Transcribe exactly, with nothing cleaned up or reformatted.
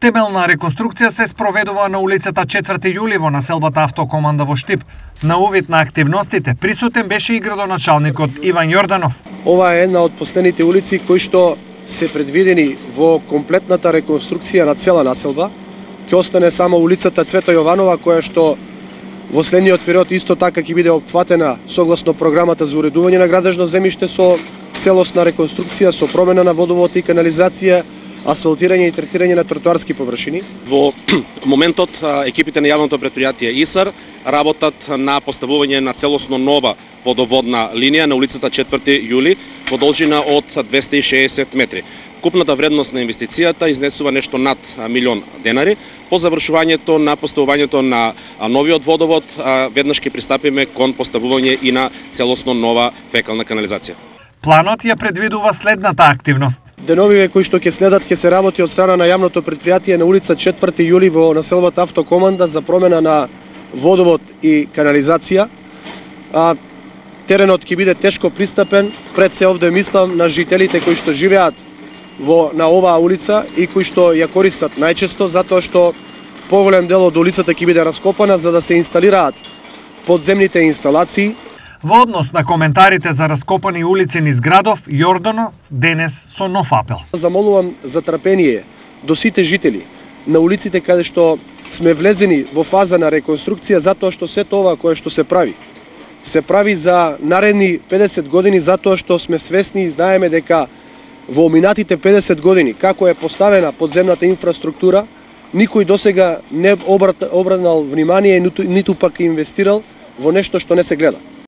Темелна реконструкција се спроведува на улицата четврти јули во населбата Автокоманда во Штип. На увид на активностите присутен беше и градоначалникот Иван Јорданов. Ова е една од последните улици кои што се предвидени во комплетната реконструкција на цела населба. Ќе остане само улицата Цвета Јованова, која што во следниот период исто така ќе биде опфатена согласно програмата за уредување на градежно земјиште со целосна реконструкција, со промена на водовод и канализација, асфалтирање и третирање на тротоарски површини. Во моментот екипите на јавното претпријатие ИСАР работат на поставување на целосно нова водоводна линија на улицата четврти јули во должина од двесте и шеесет метри. Купната вредност на инвестицијата изнесува нешто над милион денари. По завршувањето на поставувањето на новиот водовод, веднаш ќе пристапиме кон поставување и на целосно нова фекална канализација. Планот ја предвидува следната активност. Деновиве кои што ќе следат ќе се работи од страна на јавното претпријатие на улица четврти јули во населбата Автокоманда за промена на водовод и канализација. А, теренот ќе биде тешко пристапен, пред се овде мислам на жителите кои што живеат во на оваа улица и кои што ја користат најчесто, затоа што поголем дел од улицата ќе биде раскопана за да се инсталираат подземните инсталации. Во однос на коментарите за раскопани улици низ градов, Јорданов денес со нов апел. Замолувам за трпение до сите жители на улиците каде што сме влезени во фаза на реконструкција, затоа што се тоа кое што се прави се прави за наредни педесет години, затоа што сме свесни и знаеме дека во минатите педесет години како е поставена подземната инфраструктура, никој досега не обратнал внимание, ниту, ниту пак инвестирал во нешто што не се гледа.